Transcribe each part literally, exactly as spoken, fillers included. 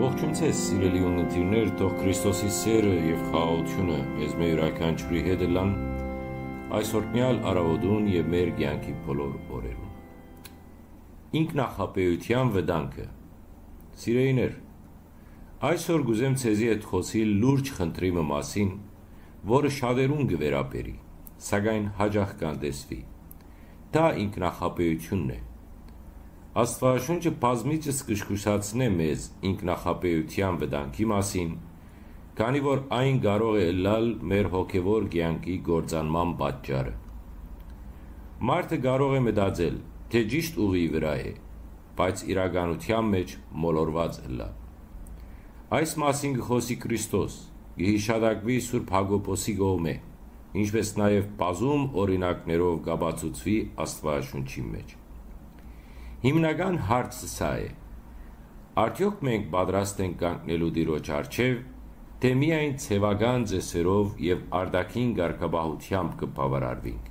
Ողջույն ձեզ, սիրելի ունգընտիրներ, թող Քրիստոսի սերը եւ խաղաղութիւնը մեզմէ իւրաքանչիւրի հետ ըլլան այսօրնեալ առաւօտուն եւ մեր կեանքի բոլոր օրերուն։ Ինքնախաբէութեան վտանգը։ Սիրելիներ, այսօր կ'ուզեմ ձեզի հետ խօսիլ լուրջ խնդրի մը մասին, որը շատերուն կը վերաբերի, սակայն յաճախ կ'անտեսուի։ Դա ինքնախաբէութիւնն է։ Աստուածաշունչը բազմիցս կը զգուշացնէ մեզ ինքնախաբէութեան վտանգի մասին, քանի որ այն կարող է ըլլալ մեր հոգեվոր կեանքի կործանման պատճառը։ Մարդը կարող է մտածել, թէ ճիշդ ուղի վրայ է, բայց իրականութեան մէջ մոլորուած ըլլայ։ Այս մասին կը խօսի Քրիստոս, կը յիշատակուի Սուրբ Յակոբոսի կողմէ, ինչպէս նաեւ բազում օրինակներով կ'ապացուցուի Աստուածաշունչին մէջ։ Հիմնական հարցը սա է. արդեօք մենք պատրաստ ենք կանգնելու Տիրոջ առջեւ, թէ՞ միայն ձեւական ծեսերով եւ արտաքին կարգապահութեամբ կը բաւարարուինք։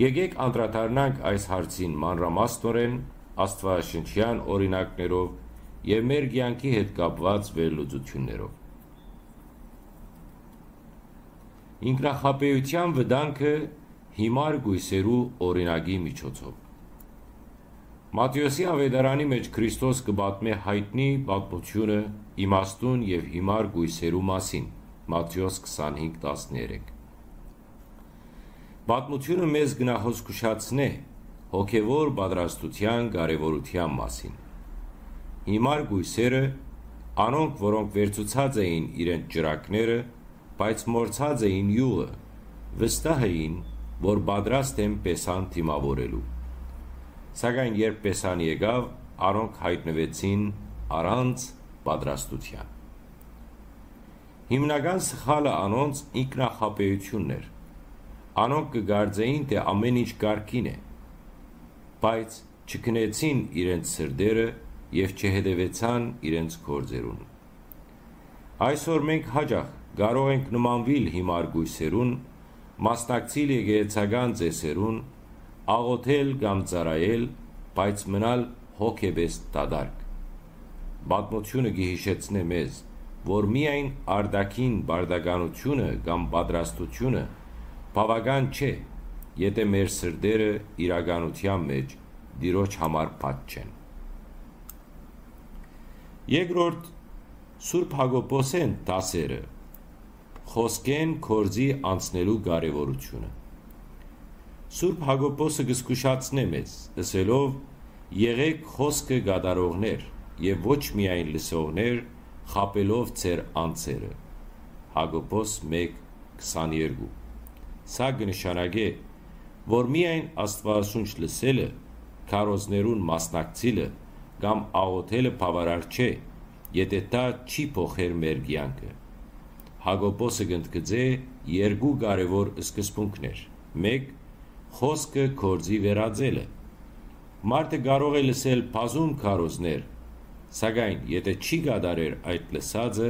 Եկէք անդրադառնանք այս հարցին մանրամասնօրէն Աստուածաշնչեան օրինակներով եւ մեր կեանքի հետ կապուած վերլուծութիւններով։ Ինքնախաբէութեան վտանգը յիմար կոյսերու օրինակի միջոցով։ Մատթէոսի Աւետարանի մէջ Քրիստոս կը պատմէ յայտնի պատմութիւնը իմաստուն եւ յիմար կոյսերու մասին, Մատթէոս քսանհինգ տասներեք։ Պատմութիւնը մեզ կը նախազգուշացնէ հոգեվոր պատրաստութեան կարեւորութեան մասին։ Յիմար կոյսերը, անոնք, որոնք վերցուցած էին իրենց ճրագները, բայց մոռցած էին իւղը, վստահ էին, որ պատրաստ են Պեսան դիմաւորելու։ Սակայն երբ Պեսան եկաւ, անոնք յայտնուեցին առանց պատրաստութեան։ Հիմնական սխալը անոնց ինքնախաբէութիւնն էր։ Անոնք կը կարծէին, թէ ամէն ինչ կարգին է, բայց չքնեցին իրենց սրտերը եւ չհետեւեցան իրենց գործերուն։ Այսօր մենք յաճախ կարող ենք նմանուիլ յիմար կոյսերուն, մասնակցիլ եկեղեցական ծեսերուն, աղօթել կամ ծառայել, բայց մնալ հոգեպէս դատարկ։ Պատմութիւնը կը յիշեցնէ մեզ, որ միայն արտաքին պարտականութիւնը կամ պատրաստութիւնը բաւական չէ, եթէ մեր սրտերը իրականութեան մէջ Տիրոջ համար փակ չեն։ Երկրորդ, Սուրբ Յակոբոսէն դասերը, խօսքէն գործի անցնելու կարեւորութիւնը։ Սուրբ Յակոբոսը կը զգուշացնէ մեզ, ըսելով. «Եղէք խօսքը կատարողներ եւ ոչ միայն լսողներ, խաբելով ձեր անձերը»։ Յակոբոս մէկ քսաներկու։ Սա կը նշանակէ, որ միայն Աստուածաշունչ լսելը, քարոզներուն մասնակցիլը կամ աղօթելը բաւարար չէ, եթէ դա չի փոխեր մեր կեանքը։ Յակոբոսը կ'ընդգծէ երկու կարեւոր սկզբունքներ։ Մէկ, խօսքը գործի վերածելը։ Մարդը կարող է լսել բազում քարոզներ, սակայն եթէ չի կատարեր այդ լսածը,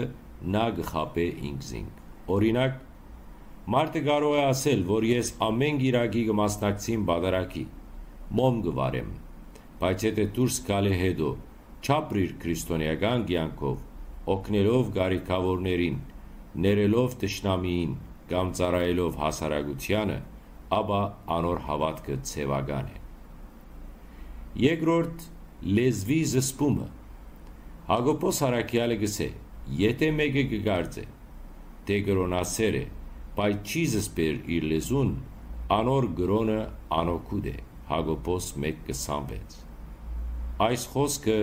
նա կը խաբէ ինքզինք։ Օրինակ, մարդը կարող է ասել, որ ես ամէն կիրակի կը մասնակցեմ պատարագի, մոմ կը վառեմ, բայց եթէ դուրս գալէ յետոյ, չապրիր քրիստոնէական կեանքով, օգնելով կարիքաւորներին, ներելով թշնամիին կամ ծառայելով հասարակությանը, ապա անոր հաւատքը ձեւական է։ Երկրորդ, լեզուի զսպումը։ Յակոբոս առաքեալը կ'ըսէ. «Եթէ մէկը կը կարծէ, թէ կրոնասէր է, բայց չի զսպեր իր լեզուն, անոր կրոնը անօգուտ է»։ Յակոբոս մէկ քսանվեց։ Այս խօսքը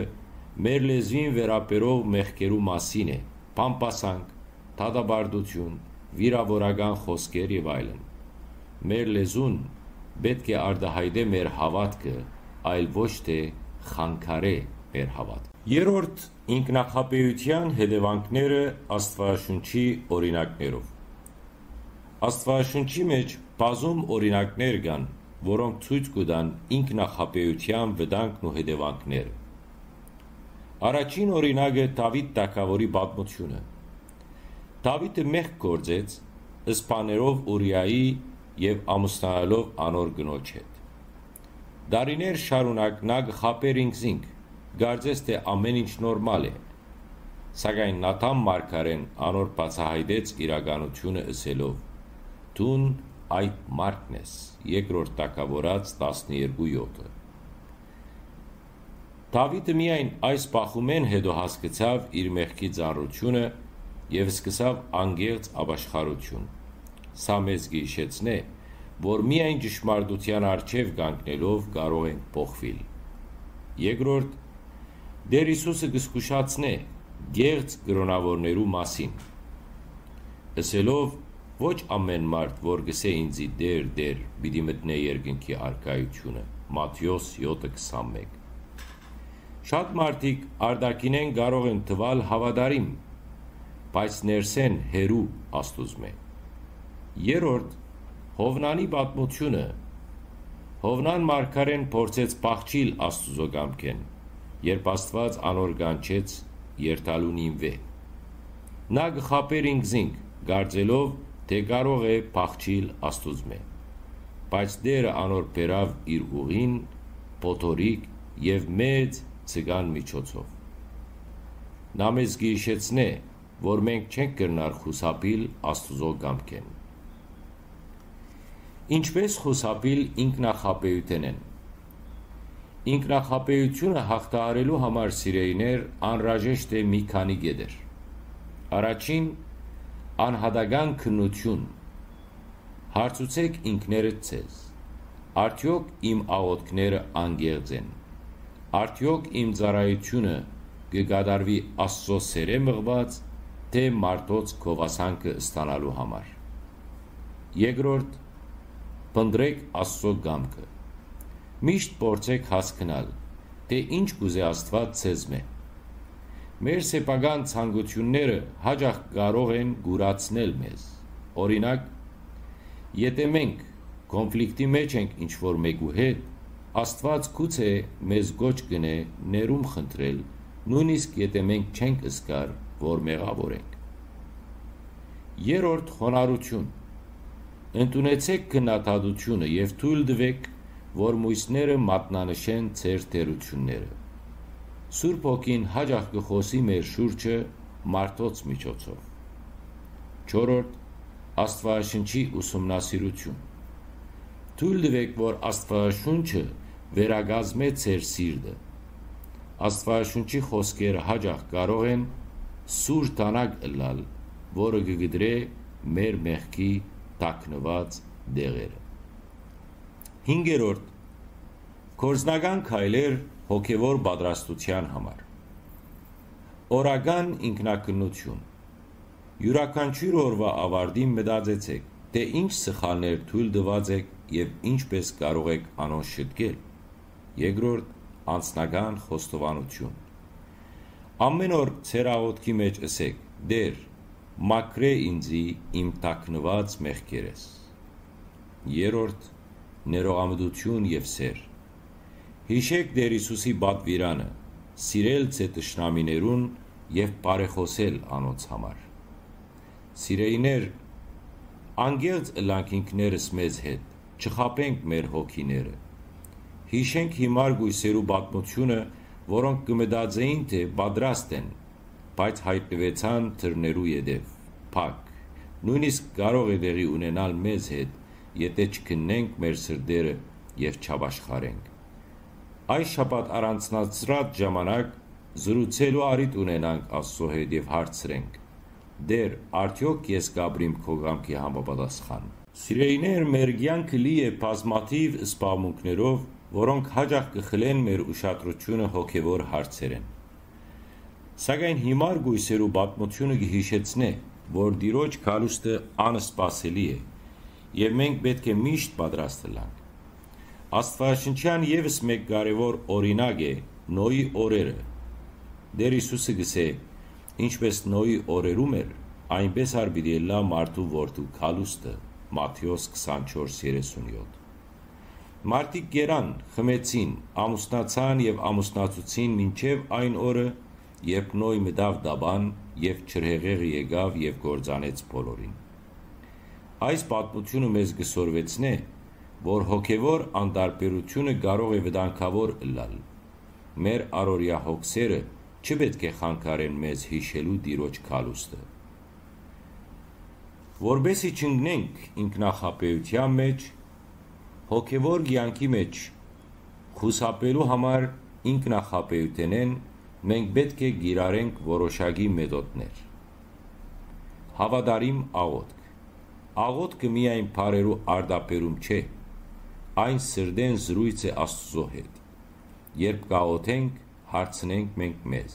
մեր լեզուին վերաբերող մեղքերու մասին է, բամբասանք, դատապարտութիւն, վիրաւորական խօսքեր եւ այլն։ Մեր լեզուն պէտք է արտայայտէ մեր հաւատքը, այլ ոչ թէ խանգարէ մեր հաւատքը։ Երրորդ, ինքնախաբէութեան հետեւանքները Աստուածաշունչի օրինակներով։ Աստուածաշունչի մէջ բազում օրինակներ կան, որոնք ցոյց կու տան ինքնախաբէութեան վտանգն ու հետեւանքները։ Առաջին օրինակը Դաւիթ թագաւորի պատմութիւնը։ Դաւիթը մեղք գործեց, սպանելով Ուրիայի եւ ամուսնանալով անոր կնոջ հետ։ Տարիներ շարունակ նա կը խաբէր ինքզինք, կարծես թէ ամէն ինչ նորմալ է, Սակայն Նաթան մարգարէն անոր բացայայտեց իրականութիւնը ըսելով. «Դուն այդ մարդն ես»։ Երկրորդ Թագաւորաց տասներկու յոթը։ Դաւիթը միայն այս բախումէն յետոյ հասկցաւ իր մեղքի ծանրութիւնը եւ սկսաւ անկեղծ ապաշխարութիւն։ Սա մեզ կը յիշեցնէ, որ միայն ճշմարտութեան առջեւ կանգնելով կարող ենք փոխուիլ։ Երկրորդ, Տէր Յիսուսը կը զգուշացնէ կեղծ կրօնաւորներու մասին, ըսելով. «Ոչ ամէն մարդ, որ կ'ըսէ ինծի՝ "Տէր, Տէր", պիտի մտնէ երկնքի առկայութիւնը»։ Մատթէոս յոթը քսանմէկ։ Շատ մարդիկ արտաքինէն կարող են թուալ հաւատարիմ, բայց ներսէն հեռու Աստուծմէ։ Երրորդ, Յովնանի պատմութիւնը։ Յովնան մարգարէն փորձեց փախչիլ Աստուծոյ կամքէն, երբ Աստուած անոր կանչեց երթալու Նինուէ։ Նա կը խաբէր ինքզինք, կարծելով թէ կարող է փախչիլ Աստուծմէ։ Բայց Տէրը անոր բերաւ իր ուղին, փոթորիկ եւ մեծ ձկան միջոցով։ Նա մեզ կը յիշեցնէ, որ մենք չենք կրնար խուսափիլ Աստուծոյ կամքէն։ Ինչպէս խուսափիլ ինքնախաբէութենէն։ Ինքնախաբէութիւնը յաղթահարելու համար, սիրելիներ, անհրաժեշտ է մի քանի կետեր։ Առաջին, անհատական քննութիւն։ Հարցուցէք ինքներդ ձեզ. «Արդեօք իմ աղօթքները անկեղծ են։ Արդեօք իմ ծառայութիւնը կը կատարուի Աստուծոյ սէրէ մղուած, թէ մարդոց գովասանքը ստանալու համար»։ Երկրորդ, փնտռէք Աստուծոյ կամքը։ Միշտ փորձէք հասկնալ, թէ ինչ կ'ուզէ Աստուած ձեզմէ։ Մեր սեփական ցանկութիւնները յաճախ կարող են կուրացնել մեզ։ Օրինակ, եթէ մենք կոնֆլիկտի մէջ ենք ինչ-որ մէկու հետ, Աստուած գուցե մեզ կոչ կ'ընէ ներում խնդրել, նոյնիսկ եթէ մենք չենք զգար, որ մեղաւոր ենք։ Երրորդ, խոնարհութիւն։ Ընդունեցէք քննադատութիւնը եւ թոյլ տուէք, որ միւսները մատնանշեն ձեր թերութիւնները։ Սուրբ Հոգին յաճախ կը խօսի մեր շուրջը մարդոց միջոցով։ Չորրորդ, Աստուածաշունչի ուսումնասիրութիւն։ Թոյլ տուէք, որ Աստուածաշունչը վերակազմէ ձեր սիրտը։ Աստուածաշունչի խօսքերը յաճախ կարող են սուր դանակ ըլլալ, որը կը կտրէ մեր մեղքի թաքնուած տեղերը։ Հինգերորդ, գործնական քայլեր հոգեվոր պատրաստութեան համար։ Օրական ինքնակնություն։ Իւրաքանչիւր օրուայ աւարտին մտածեցէք, թէ ինչ սխալներ թոյլ տուած էք եւ ինչպէս կարող էք անոնց շտկել։ Երկրորդ, անձնական խոստովանութիւն։ Ամէն օր ձեր աղօթքի մէջ ըսէք. «Տէր, մաքրէ ինծի իմ թաքնուած մեղքերէս»։ Երրորդ, ներողամտություն եւ սէր։ Յիշէք Տէր Յիսուսի պատուիրանը՝ սիրել ձեր թշնամիներուն եւ բարեխօսել անոնց համար։ Սիրելիներ, անկեղծ ըլլանք ինքներս մեզ հետ, չխաբենք մեր հոգիները։ Յիշենք յիմար կոյսերու պատմութիւնը, որոնք կը մտածէին, թէ պատրաստ են, բայց յայտնուեցան դռներու ետեւ, փակ։ Նոյնիսկ կարող է տեղի ունենալ մեզ հետ, եթէ չքննենք մեր սրտերը եւ չապաշխարենք։ Այս շաբաթ առանձնացրած ժամանակ զրուցելու առիթ ունենանք Աստծո հետ եւ հարցրենք. «Տէր, արդեօք ես կ'ապրի՞մ քո կամքի համապատասխան»։ Սիրելիներ, մեր կեանքը լի է բազմաթիւ զբաղմունքներով, որոնք յաճախ կը խլեն մեր ուշադրութիւնը հոգեվոր հարցերէն։ Սակայն յիմար կոյսերու պատմութիւնը կը յիշեցնէ, որ Տիրոջ գալուստը անսպասելի է եւ մենք պէտք է միշտ պատրաստ ըլլանք։ Աստուածաշնչեան եւս մէկ կարեւոր օրինակ է Նոյի օրերը։ Տէր Յիսուսը կ'ըսէ. «Ինչպէս Նոյի օրերում էր, այնպէս ալ պիտի ըլլայ մարդու որդու գալուստը»։ Մատթէոս քսանչորս երեսունյոթ։ Մարդիկ կերան, խմեցին, ամուսնացան եւ ամուսնացուցին մինչեւ այն օրը, երբ Նոյ մտաւ տապան եւ ջրհեղեղը եկաւ եւ կործանեց բոլորին։ Այս պատմութիւնը մեզ կը սորվեցնէ, որ հոգեվոր անտարբերութիւնը կարող է վտանգաւոր ըլլալ։ Մեր առօրեայ հոգսերը Չի պէտք է խանգարեն մեզ յիշելու Տիրոջ գալուստը։ Որպէս զի չընկնենք ինքնախաբէութեան մէջ, հոգեւոր կեանքի մէջ խուսափելու համար ինքնախաբէութենէն մենք պէտք է կիրառենք որոշակի մեթոտներ։ Հաւատարիմ աղօթք։ Աղօթքը միայն բառերու արտաբերում չէ, այն սրտէն զրոյց է Աստուծոյ հետ։ Երբ կաղօթենք, հարցնենք մենք մեզ.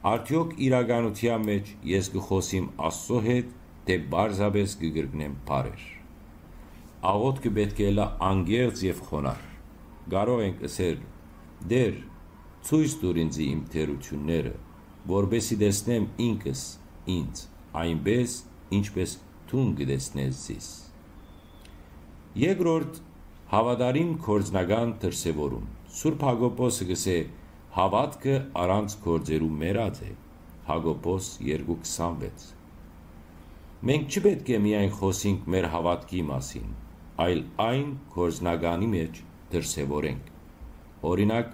«Արդեօք իրականութեան մէջ ես կը խօսի՞մ Աստուծոյ հետ, թէ պարզապէս կը կրկնեմ բառեր»։ Աղօթքը պէտք է ըլլայ անկեղծ եւ խոնարհ։ Կարող ենք ըսել. «Տէր, ցոյց տուր ինծի իմ թերութիւնները, որպէս զի տեսնեմ ինքս ինձ, այնպէս, ինչպէս դուն կը տեսնես զիս»։ Երկրորդ, հաւատարիմ գործնական դրսեւորում։ Սուրբ Յակոբոսը կ'ըսէ. «Հաւատքը առանց գործերու մեռած է»։ Յակոբոս երկու քսանվեց։ Մենք չի պէտք է միայն խօսենք մեր հաւատքի մասին, այլ այն գործնականի մէջ դրսեւորենք։ Օրինակ,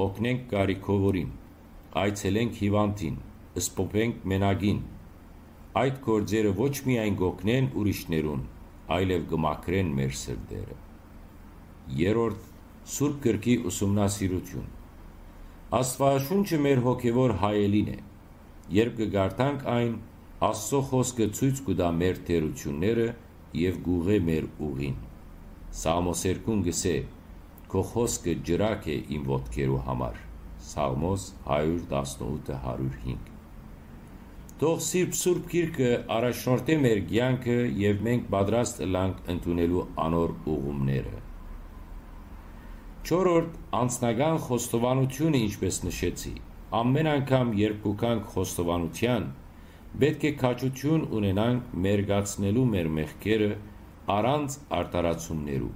օգնենք կարիքովորին, այցելենք հիւանդին, սփոփենք մենակին։ Այդ գործերը ոչ միայն կ'օգնեն ուրիշներուն, այլեւ կը մաքրեն մեր սրտերը։ Երրորդ, Սուրբ Գրքի ուսումնասիրութիւն։ Աստուածաշունչը մեր հոգեւոր հայելին է։ Երբ կը կարդանք այն, Աստուծոյ խօսքը ցոյց կու տայ մեր թերութիւնները եւ կ'ուղղէ մեր ուղին։ Սաղմոս երկուն կ'ըսէ. «Քո խօսքը ջրակ է իմ ոտքերու համար»։ Սաղմոս հարիւր տասնութ, հարիւր հինգ։ Թող Սուրբ, Սուրբ Գիրքը առաջնորդէ մեր կեանքը եւ մենք պատրաստ ըլլանք ընդունելու անոր ուղումները։ Չորրորդ, անձնական խոստովանութիւնը, ինչպէս նշեցի, ամէն անգամ, երբ կու գանք խոստովանութեան, պէտք է քաջութիւն ունենանք մերկացնելու մեր մեղքերը առանց արդարացումներու։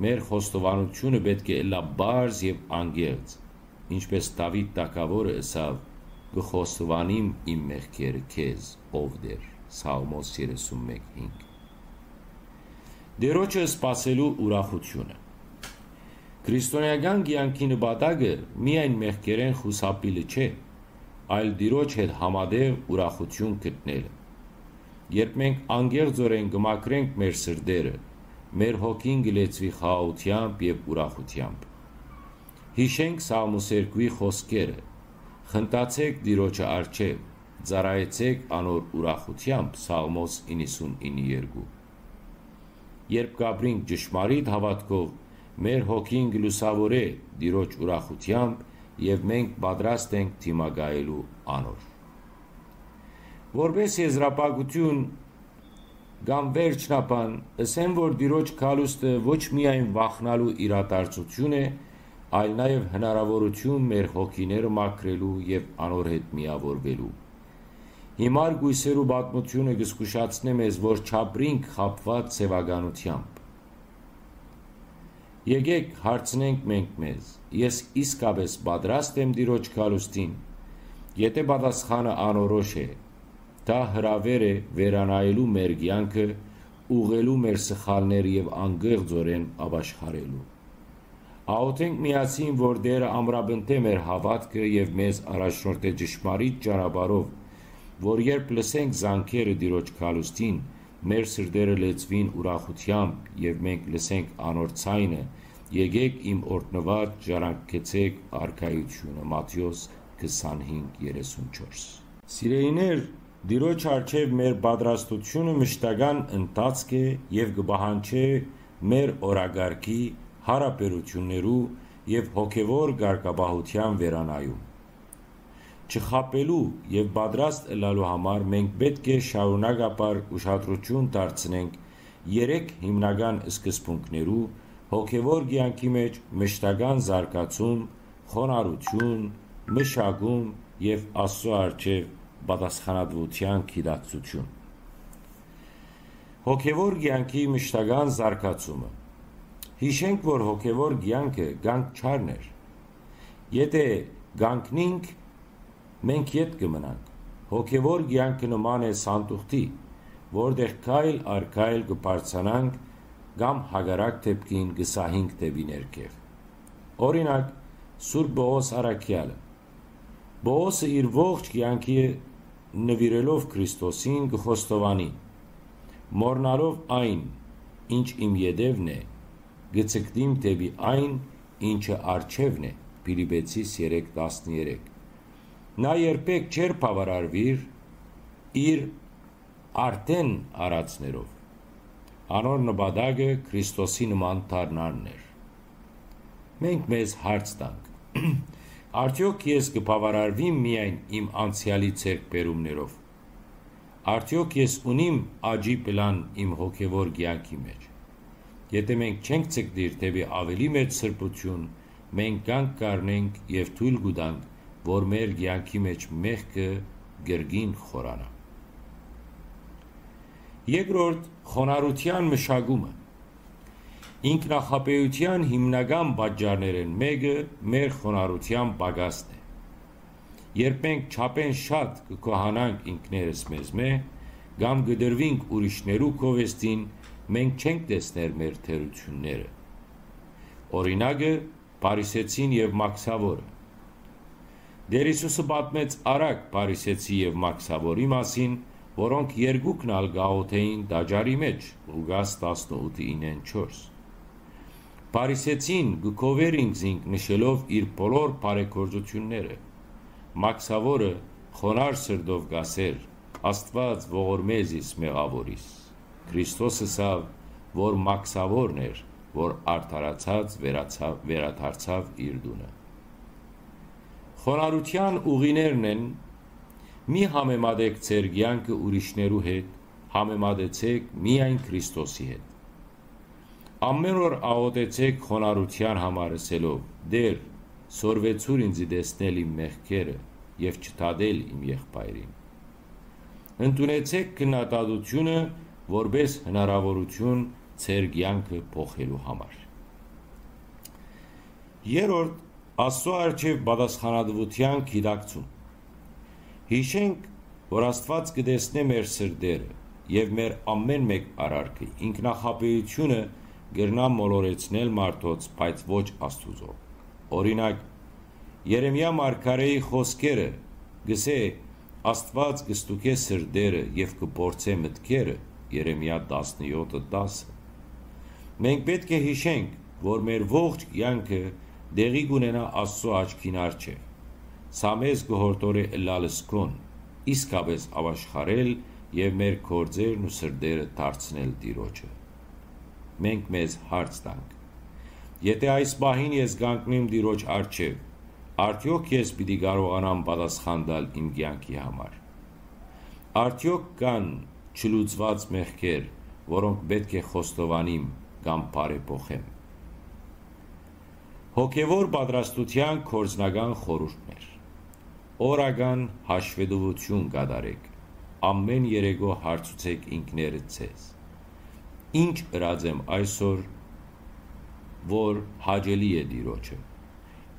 Մեր խոստովանութիւնը պէտք է ըլլայ պարզ եւ անկեղծ, ինչպէս Դաւիթ թագաւորը ըսաւ. «Կը խոստովանիմ իմ մեղքերը քեզ, ով Տէր»։ Սաղմոս երեսուն մէկ հինգ։ Տիրոջը սպասելու ուրախութիւնը։ Քրիստոնէական կեանքի նպատակը միայն մեղքերէն խուսափիլը չէ, այլ Տիրոջ հետ համատեղ ուրախութիւն գտնելը։ Երբ մենք անկեղծօրէն կը մաքրենք մեր սրտերը, մեր հոգին կը լեցուի խաղաղութեամբ եւ ուրախութեամբ։ Յիշենք Սաղմոս երկուի խօսքերը. «Խնդացէք Տիրոջը առջեւ, ծառայեցէք անոր ուրախութեամբ»։ Սաղմոս իննսունինը երկու։ Երբ կ'ապրինք ճշմարիտ հաւատքով, մեր հոգին կը լուսաւորէ Տիրոջ ուրախութեամբ եւ մենք պատրաստ ենք դիմակայելու անոր։ Որպէս եզրափակութիւն կամ վերջնաբան, ըսեմ, որ Տիրոջ գալուստը ոչ միայն վախնալու իրադարձութիւն է, այլ նաեւ հնարաւորութիւն մեր հոգիները մաքրելու եւ անոր հետ միաւորուելու։ Հիմար կոյսերու պատմութիւնը կը զգուշացնէ մեզ, որ չապրինք խաբուած ձեւականութեամբ։ Եկէք, հարցնենք մենք մեզ. «Ես իսկապէս պատրաստ եմ Տիրոջ գալուստին»։ Եթէ պատասխանը անորոշ է, դա հրաւէր է վերանայելու մեր կեանքը, ուղղելու մեր սխալները եւ անկեղծօրէն ապաշխարելու։ Աղօթենք միասին, որ Տէրը ամրապնդէ մեր հաւատքը եւ մեզ առաջնորդէ ճշմարիտ ճանապարհով, որ երբ լսենք զանգերը Տիրոջ գալուստին, մեր սրտերը լեցուին ուրախութեամբ եւ մենք լսենք անոր ձայնը. «Եկէք իմ օրհնուած, ժառանգեցէք արքայութիւնը»։ Մատթէոս քսանհինգ, երեսունչորս։ Սիրելիներ, Տիրոջ առջեւ մեր պատրաստութիւնը մշտական ընթացք է եւ կը պահանջէ մեր օրակարգի, յարաբերութիւններու եւ հոգեւոր կարգապահութեան վերանայում։ Չխաբելու եւ պատրաստ ըլլալու համար մենք պէտք է շարունակաբար ուշադրութիւն դարձնենք երեք հիմնական սկզբունքներու՝ հոգեւոր կեանքի մէջ մշտական զարգացում, խոնարհութիւն, մշակում եւ Աստուծոյ առջեւ պատասխանատուութեան գիտակցութիւն։ Հոգեւոր կեանքի մշտական զարգացումը։ Յիշենք, որ հոգեւոր կեանքը կանգ չառներ։ Եթէ կանգնինք, մենք ետ կը մնանք։ Հոգեւոր կեանքը նման է սանդուղթի, որտեղ քայլ առ քայլ կը բարձրանանք կամ հակառակ դեպքին կը սահինք դէպի ներքեւ։ Օրինակ, Սուրբ Պողոս առաքեալը. Պողոսը իր ողջ կեանքը նուիրելով Քրիստոսին կը խոստովանի. «Մոռնալով այն, ինչ իմ ետեւն է, կը ցկտիմ դէպի այն, ինչը առջեւն է», Փիլիպեցիս երեք տասներեք։ Նա երբեք չէր բաւարարուիր իր արդէն արածներով։ Անոր նպատակը Քրիստոսի նման դառնալն էր։ Մենք մեզ հարց տանք. «Արդեօք ես կը բաւարարվի՞մ միայն իմ անցեալի ձեռքբերումներով։ Արդեօք ես ունի՞մ աճի պլան իմ հոգեւոր կեանքի մէջ»։ Եթէ մենք չենք ցկտիր դէպի ավելի մեծ սրբութիւն, մենք կանգ կ'առնենք եւ թոյլ կու տանք, որ մեր կեանքի մէջ մեղքը կրկին խորանայ։ Երկրորդ, խոնարհութեան մշակումը։ Ինքնախաբէութեան հիմնական պատճառներէն մէկը մեր խոնարհութեան պակասն է։ Երբ մենք չափէն շատ կը գոհանանք ինքներս մեզմէ, կամ կը տրուինք ուրիշներու գովեստին, մենք չենք տեսներ մեր թերութիւնները։ Օրինակը՝ Փարիսեցին եւ Մաքսաւորը։ Տէր Յիսուսը պատմեց արագ Փարիսեցի եւ Մաքսաւորի մասին, որոնք երկուքն ալ կ'աղօթէին տաճարի մէջ, Ղուկաս տասնութ իննեն չորս։ Փարիսեցին կը գովէր ինքզինք նշելով իր բոլոր բարեգործութիւնները։ Մաքսաւորը խոնարհ սրտով կ'ասէր. «Աստուած, ողորմէ զիս մեղաւորիս»։ Քրիստոս ըսաւ, որ մաքսաւորն էր, որ արդարացած վերացաւ, վերադարձաւ իր տունը։ Խոնարհութեան ուղիներն են. «Մի համեմատեք ձեր կեանքը ուրիշներու հետ, համեմատեցէք միայն Քրիստոսի հետ»։ Ամէն օր աղօթեցէք խոնարհութեան համար, ըսելով. «Տէր, սորվեցուր ինծի տեսնել իմ մեղքերը եւ չդատել իմ եղբայրին»։ Ընդունեցէք քննադատութիւնը որպէս հնարաւորութիւն ձեր կեանքը փոխելու համար։ Երրորդ, Աստծո առջեւ պատասխանատուութեան գիտակցում։ Յիշենք, որ Աստուած կը տեսնէ մեր սրտերը եւ մեր ամէն մէկ արարքը։ Ինքնախաբէութիւնը կրնայ մոլորեցնել մարդոց, բայց ոչ Աստուծոյ։ Օրինակ, Երեմիա մարգարէի խօսքերը կ'ըսէ. «Աստուած կը ստուգէ սրտերը եւ կը փորձէ մտքերը», Երեմիա տասնեօթը տասը։ Մենք պէտք է յիշենք, որ մեր ողջ կեանքը տեղի կ'ունենայ Աստուծոյ աչքին առջեւ։ Սա մեզ կը յորդորէ ըլլալ զգոն, իսկապէս աւաշխարել եւ մեր գործերն ու սրտերը դարձնել Տիրոջը։ Մենք մեզ հարց տանք. «Եթէ այս պահին ես կանգնեմ Տիրոջ առջեւ, արդեօք ես պիտի կարողանամ պատասխան տալ իմ կեանքի համար»։ Արդեօք կան չլուծուած մեղքեր, որոնք պէտք է խոստովանիմ կամ բարեփոխեմ։ Հոգեվոր պատրաստութեան գործնական խորհուրդներ։ Օրական հաշվետվութիւն կատարեք։ Ամէն երեկոյ հարցուցեք ինքներդ ձեզ. «Ի՞նչ ըրած եմ այսօր, որ հաճելի է Տիրոջը։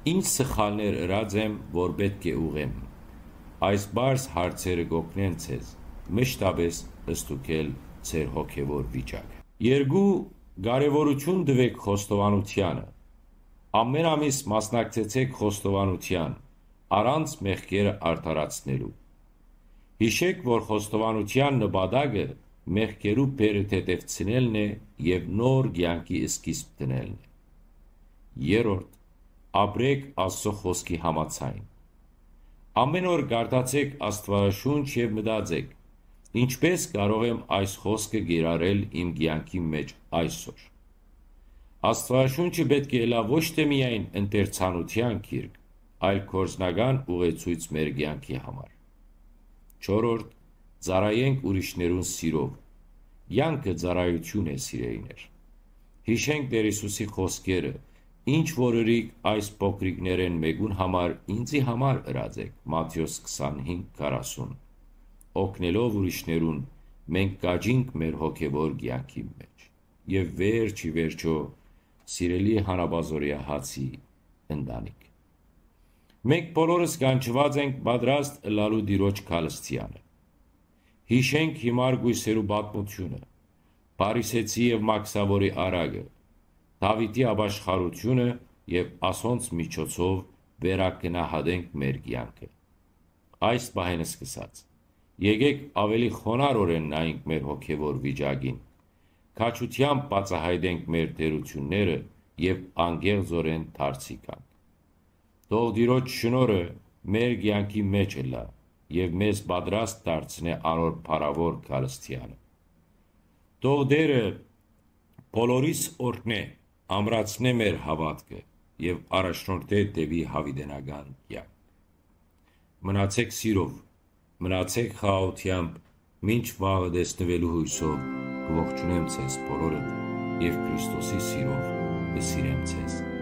Ի՞նչ սխալներ ըրած եմ, որ պէտք է ուղղեմ»։ Այս պարզ հարցերը կ'օգնեն ձեզ մշտապէս ստուգել ձեր հոգեվոր վիճակը։ Երկու, կարեւորութիւն տուէք խոստովանութեանը։ Ամէն ամիս մասնակցեցէք խոստովանութեան, առանց մեղքերը արդարացնելու։ Յիշեք, որ խոստովանութեան նպատակը մեղքերու բեռը թեթեւցնելն է եւ նոր կեանքի սկիզբ դնելն է։ Երրորդ, ապրեք Աստծո խօսքի համաձայն։ Ամէն օր կարդացէք Աստուածաշունչ եւ մտածէք. «Ինչպէս կարող եմ այս խօսքը կիրառել իմ կեանքի մէջ այսօր»։ Աստուածաշունչը պէտք է ըլլայ ոչ թէ միայն ընթերցանութեան գիրք, այլ գործնական ուղեցոյց մեր կեանքի համար։ Չորրորդ, ծառայենք ուրիշներուն սիրով։ Կեանքը ծառայութիւն է, սիրելիներ։ Յիշենք Տէր Յիսուսի խօսքերը. «Ինչ որ ըրիք այս փոքրիկներէն մէկուն համար, ինծի համար ըրած էք», Մատթէոս քսանհինգ քառասուն։ Օգնելով ուրիշներուն, մենք կաճինք մեր հոգեվոր կեանքի մէջ։ Եւ վերջ ի վերջոյ, սիրելի Հանապազօրեայ Հացի ընտանիք, մենք բոլորս կանչուած ենք պատրաստ ըլլալու Տիրոջ քալստեանը։ Յիշենք հիմար կոյսերու պատմութիւնը, Փարիսեցի եւ Մաքսաւորի արագը, Դաւիթի ապաշխարութիւնը եւ ասոնց միջոցով վերագնահատենք մեր կեանքը։ այս պահէն սկսած։ Եկէք աւելի խոնարհօրէն նայենք մեր հոգեւոր վիճակին, քաջութեամբ բացայայտենք մեր թերութիւնները եւ անկեղծօրէն դարձի գանք։ Թող Տիրոջ շնորհը մեր կեանքի մէջ ըլլայ եւ մեզ պատրաստ դարձնէ անոր փառաւոր գալստեանը։ Թող Տէրը բոլորիս օրհնէ, ամրացնէ մեր հաւատքը եւ առաջնորդէ դէպի յաւիտենական կեանք։ Մնացէք սիրով, մնացէք խաղաղութեամբ, մինչ վաղը տեսնուելու յոյսով կ'ողջունեմ ձեզ բոլորդ եւ Քրիստոսի սիրով կը սիրեմ ձեզ։